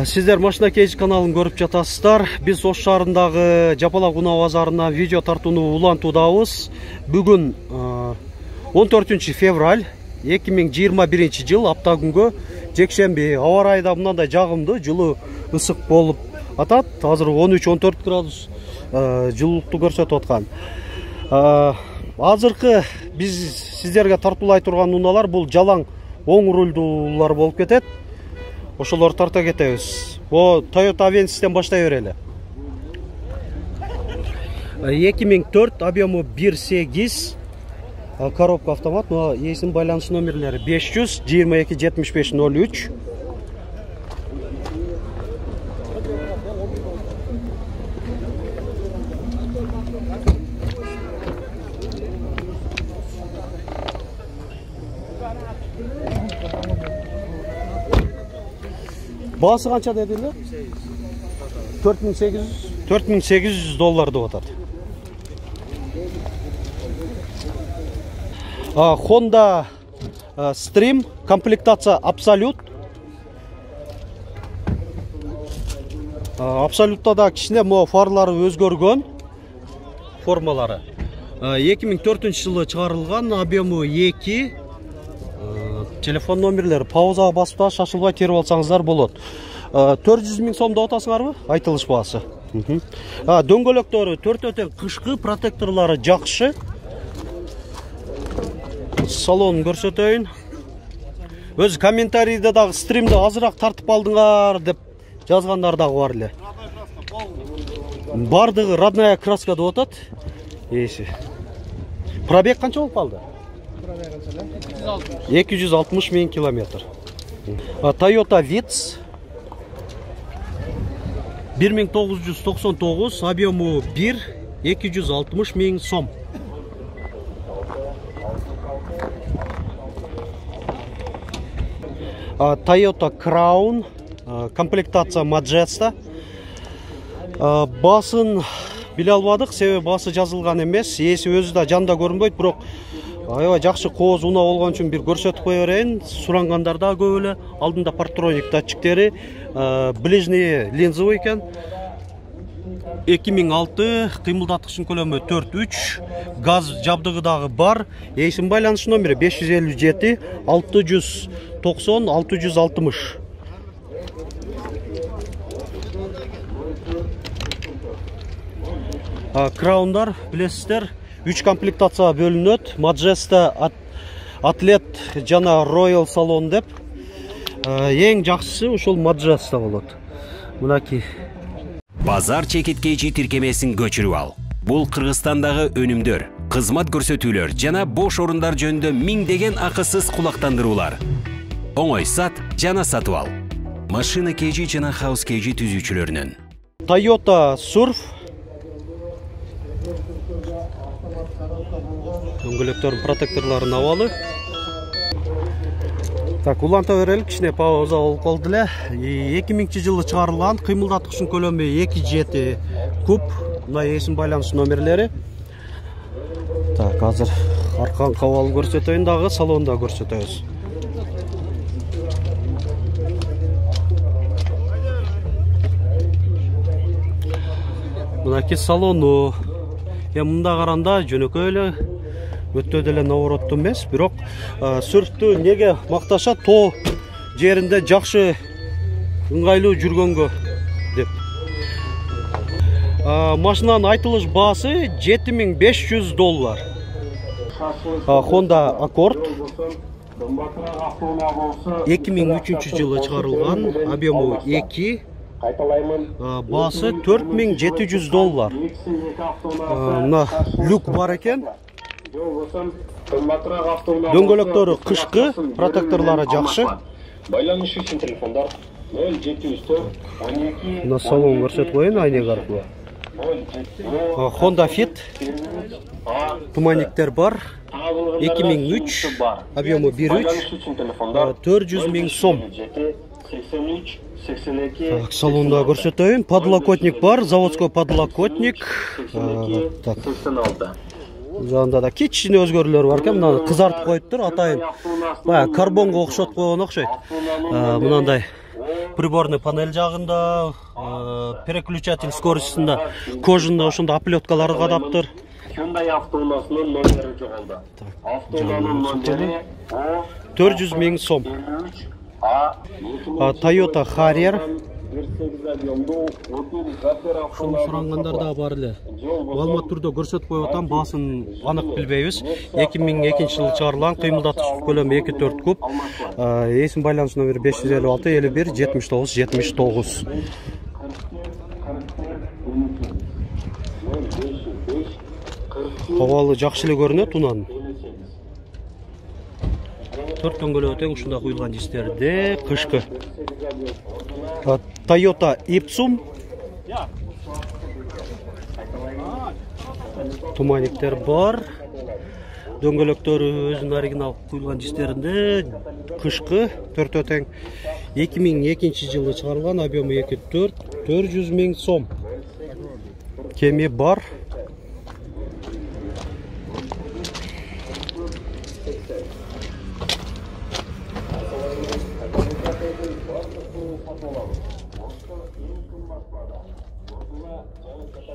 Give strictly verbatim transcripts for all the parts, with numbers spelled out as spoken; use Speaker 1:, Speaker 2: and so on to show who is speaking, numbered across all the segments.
Speaker 1: Сиздер Машина Кейж каналын көрүп жатасыздар. Биз Ош шаарындагы Жапалак унаа базарына видео тартууну улантуудабыз. Бүгүн он төртүнчү февраль эки миң жыйырма биринчи жыл апта күнгө жекшемби. Аба ырайы да мындай жагымдуу, жылуу, ысык болуп атат. Азыр он үч он төрт градус жылуулукту көрсөтүп аткан. Азыркы биз сиздерге тартуулай турган унаалар бул жалаң оң рулдуулар болуп кетет. Ошолор тарта кетебиз. О, Toyota Avensis-тен баштай берели. эки миң төрт, объему бир сегиз, коробка автомат, но эсин байланыш номерлери беш жүз жыйырма эки жетимиш беш ноль үч. Баасы канча дедилер? төрт миң сегиз жүз доллар деп атат. Honda Stream, комплектация Absolute. Absolute'та да кичине мо фарлары өзгөргөн, формалары. эки миң төртүнчү жылы чыгарылган, объему эки. Телефон номерлери паузага басып та шашылбай терип алсаңыздар болот. төрт жүз миң сом деп атасыңарбы? Айтылыш баасы. Дөңгөлөктөрү төртөө тең кышкы, протекторлору жакшы. Салонун көрсөтөйүн. Өз комментарийде дагы стримди азыраак тартып алдыңар деп жазгандар дагы бар эле. Бардыгы родная краска деп атат. Эси. Пробег канча болуп калды? эки жүз алтымыш миң километр. Toyota Vitz бир миң тогуз жүз токсон тогуз, объему бир, эки жүз алтымыш миң сом. Toyota Crown, комплектация Majesta. Басын биле албадык, себеби басы жазылган эмес. Эси өзү да жанда көрүнбөйт, бирок аябай жакшы кооз унаа болгон үчүн бир көрсөтүп кое берейин. Сурангандар да көп эле. Алдында партроник датчиктери, ближний линзовый экен. эки миң алты, кыймылдаткычтын көлөмү төрт үч, газ жабдыгы дагы бар. Эсин байланыш номери беш жүз элүү жети, алты жүз токсон, алты жүз алтымыш. Краундар билесиздер, үч комплектация бөлүнөт. Majesta, Atlet жана Royal салон деп. Эң жакшысы ошол Majesta болот. Мынакей.
Speaker 2: Базар чекиткечи тиркемесин көчүрүп ал. Бул Кыргызстандагы өнүмдөр, кызмат көрсөтүүлөр жана бош орундар жөнүндө миңдеген акысыз кулактандыруулар. Оңой сат жана сатып ал. Машина Кейжи жана House Кейжи түзүүчүлөрүнөн.
Speaker 1: Toyota Surf. Дөңгөлөктөрдүн протекторлорун абалы. Так, уланта берели, кичине пауза болуп калды эле. эки миңинчи жылы чыгарылган, кыймылдаткычтын көлөмү эки жети куб. Мына эсин байланыш номерлери. Так, азыр аркан кабалын көрсөтөйүн дагы, салонда көрсөтөбүз. Мынакей салону. Эми мында каранда жөнөкөй эле, өтө деле наоборот эмес, бирок сүрфтү неге макташат, тоо жеринде жакшы ыңгайлуу жүргөнгө деп. Машинанын айтылыш баасы жети миң беш жүз доллар. Honda Accord эки миң үчүнчү жылы чыгарылган, объему эки, баасы төрт миң жети жүз доллар. Мына люк бар экен. Дөңгөлөктөрү кышкы, протекторлору жакшы.
Speaker 3: Байланыш үчүн телефондар нөл жети жүз төрт он эки.
Speaker 1: Мына салон көрсөтүп коеюн айнек аркылуу. Honda Fit. Туманиктер бар. эки миң үч, объему бир үч, төрт жүз миң сом. Салонда көрсөтөйүн. Подлокотник бар, заводской подлокотник. Так. Жанда да кичине өзгөрүүлөр бар экен. Мына кызартып коюптур, атайын баягы карбонго окшотуп койгон окшойт. Мынандай приборный панель жагында, переключатель скоростунда, кожунда ошондо оплеткалары кадаптыр.
Speaker 3: Hyundai автоунаасынын номери жоголду. Автоунаанын номери
Speaker 1: төрт жүз миң сом. Toyota Harrier. Ушуну сурангандар да бар эле. Маалымат түрдө көрсөтүп коюп атам, баасын анык билбейбиз. эки миң экинчи жылы чыгарылган, кыймылдатыш көлөмү эки төрт куб. Эсим байланыш номери беш жүз элүү алты элүү бир жетимиш тогуз жетимиш тогуз. Абалы жакшы эле көрүнөт унан. Төрт дөңгөлөгү тең ушундай куюлган дистерде, кышкы. Toyota Ipsum. Туманиктер бар. Дөңгөлөктөрү өзүнүн оригинал куюлган дистеринде, кышкы, төртөө тең. эки миң экинчи жылы чыгарылган, объему эки төрт, төрт жүз миң сом. Кеми бар.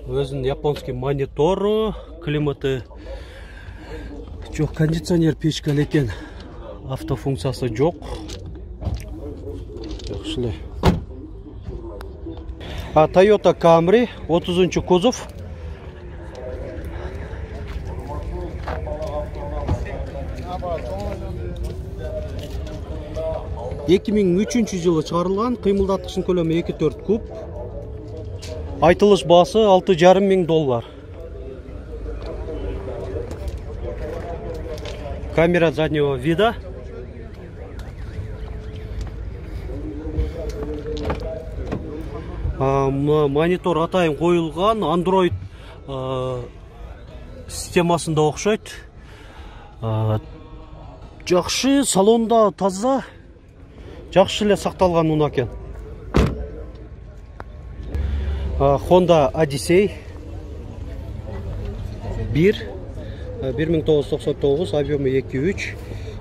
Speaker 1: Өзүнүн японский монитору, климаты жок, кондиционер печка экен. Автофункциясы жок. Жакшы эле. А Toyota Camry отузунчу кузов. эки миң үчүнчү жылы чыгарылган, кыймылдаткычынын көлөмү эки төрт куб. Айтылыш баасы алты жарым миң доллар. Камера заднего вида. Монитор атайын коюлган, Android системасында окшойт. Жакшы, салонда таза, жакшы эле сакталган унаа экен. Honda Odyssey бир, бир миң тогуз жүз токсон тогуз, объему эки үч,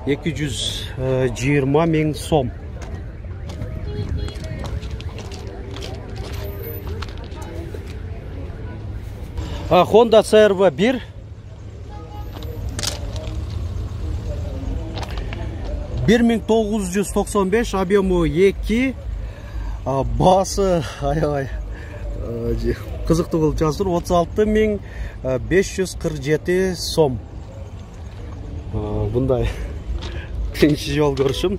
Speaker 1: эки жүз жыйырма миң сом. Honda си эр ви бир. бир миң тогуз жүз токсон беш, объему эки, баасы аябай кызыктуу кылып жаздыр, отуз алты миң беш жүз кырк жети сом. Мындай биринчи жолу көрүшүм.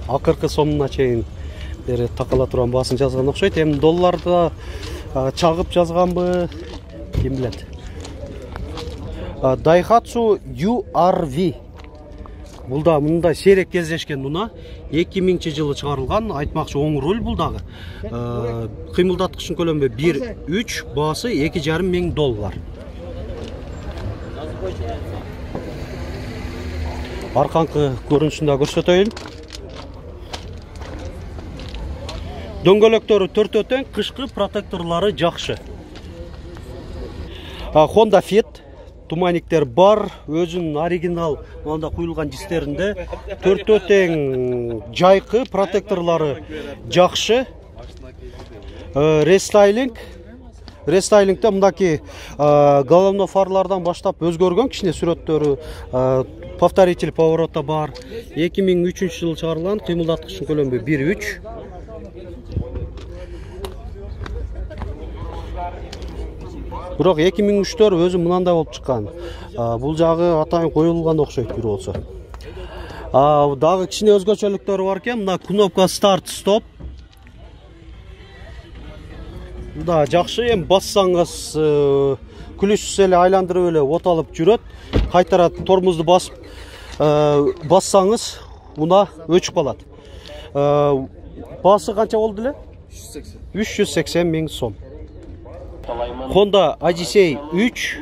Speaker 1: Акыркы сомуна чейин бери такала турган баасын жазган окшойт. Эми долларда чагып жазганбы, ким билет. Daihatsu ю ар ви. Бул да мындай сейрек кездешкен унаа. эки миңинчи жылы чыгарылган, айтмакчы оң руль бул дагы. Кыймылдаткычынын көлөмү бир үч, баасы эки жарым миң доллар. Арканкы көрүнүшүн да көрсөтөйүн. Дөңгөлөктөрү төртөө тең, кышкы, протекторлору жакшы. Honda Fit. Туманиктер бар, өзүнүн оригинал мында куюлган дистеринде, төртөө тең, жайкы, протекторлору жакшы. Рестайлинг. Рестайлингде мындаки головной фарлардан баштап өзгөргөн кичине сүрөттөрү, повторитель поворота бар. эки миң үчүнчү жылы чыгарылган, кыймылдаткычынын көлөмү бир үч. Бирок эки миң үчтөр өзү мынандай болуп чыккан. Бул жагы атайын коюлган окшойт бир болсо. Дагы кичине өзгөчөлүктөрү бар экен. Мына кнопка старт стоп. Да, жакшы, эми бассаңыз күлүшсүз эле айландырып эле оталып жүрөт. Кайтара тормозду басып бассаңыз унаа өчүп калат. Баасы канча болду эле? үч жүз сексен миң сом. Honda Odyssey үч.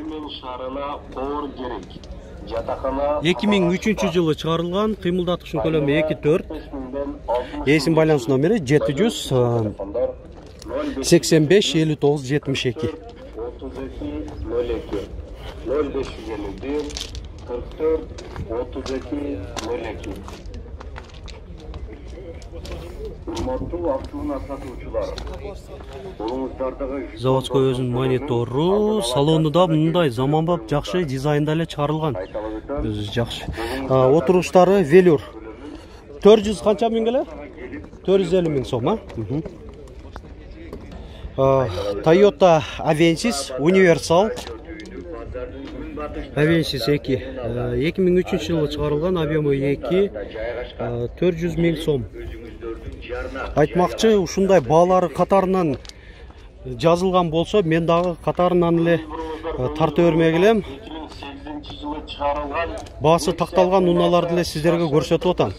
Speaker 1: эки миң үчүнчү жылы чыгарылган, кыймылдаткычынын көлөмү эки төрт. Эсим байланыш номери жети жүз сексен беш элүү тогуз жетимиш эки.
Speaker 3: besh yuz ellik bir qirq to'rt o'ttiz ikki nol ikki. Урматтуу автоунаа сатуучулар, колуңуздардагы
Speaker 1: Заводской өзүнүн монитору, салону да мындай заманбап жакшы дизайнда эле чыгарылган. Өзү жакшы. Отуруштары велюр. төрт жүз канча миң эле? төрт жүз элүү миң сом, а? Toyota Avensis Universal. Avensis эки. эки миң үчүнчү жылы чыгарылган, объему эки, төрт жүз миң сом. Айтмакчы, ушундай баалары катарынан жазылган болсо, мен дагы катарынан эле тарта бермек элем. Баасы такталган унааларды эле сиздерге көрсөтүп атам.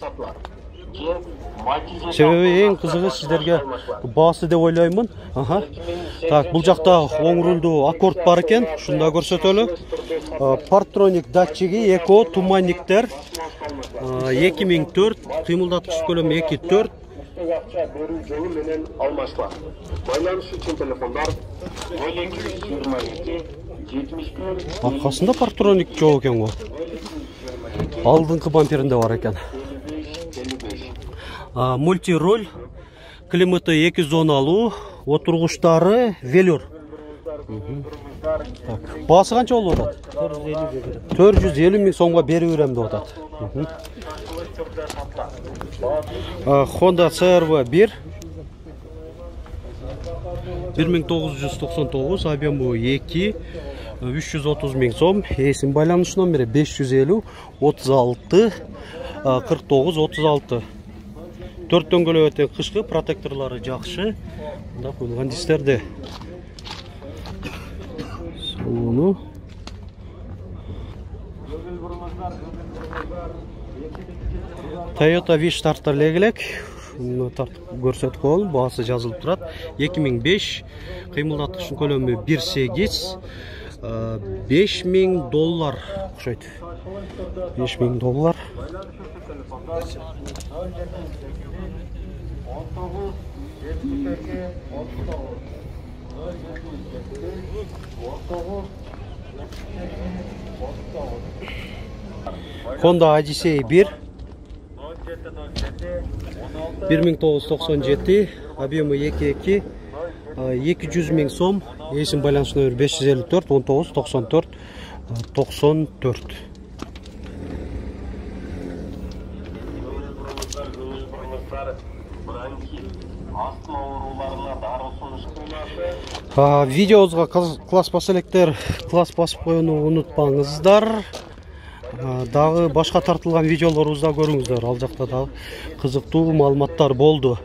Speaker 1: Себеби эң кызыгы сиздерге баасы деп ойлоймун. Аха. Так, бул жакта оң рулдуу аккорд бар экен, ушунда көрсөтөлү. Парктроник датчиги, эко, туманниктер. эки миң төрт, кыймылдаткыч көлөмү эки төрт.
Speaker 3: акча берүү жолу менен алмашла. Байланыш үчүн телефондар нөл эки жүз жыйырма эки жетимиш бир.
Speaker 1: Аркасында парктроник жок экен го. Алдыңкы бамперинде бар экен. Мультироль, климаты эки зоналуу, отургучтары велюр. Баасы канча болуп атат? төрт жүз элүү миң сомго берип берем деп атат. Honda си эр ви бир бир миң тогуз жүз токсон тогуз, объему эки, үч жүз отуз миң сом. Эсин байланыш номери беш жүз элүү отуз алты кырк тогуз отуз алты. төрт дөңгөлөк өтө кышкы, протекторлору жакшы. Мында коюлган дистерди. Салону. Toyota Wish тартар элек. Муну тартып көрсөтүп коелу, баасы жазылып турат. эки миң беш, кыймылдаткычтын көлөмү бир сегиз, беш миң доллар окшойт. беш миң доллар. Honda Odyssey бир бир миң тогуз жүз токсон жети, объему эки эки, эки жүз миң сом. Эсин байланыш номери беш жүз элүү төрт он тогуз токсон төрт токсон төрт. Видеобузга класс басып электер, класс басып коюуну унутпаңыздар. Дагы башка тартылган видеолорубузда көрүңүздөр. Ал жакта дагы кызыктуу маалыматтар болду.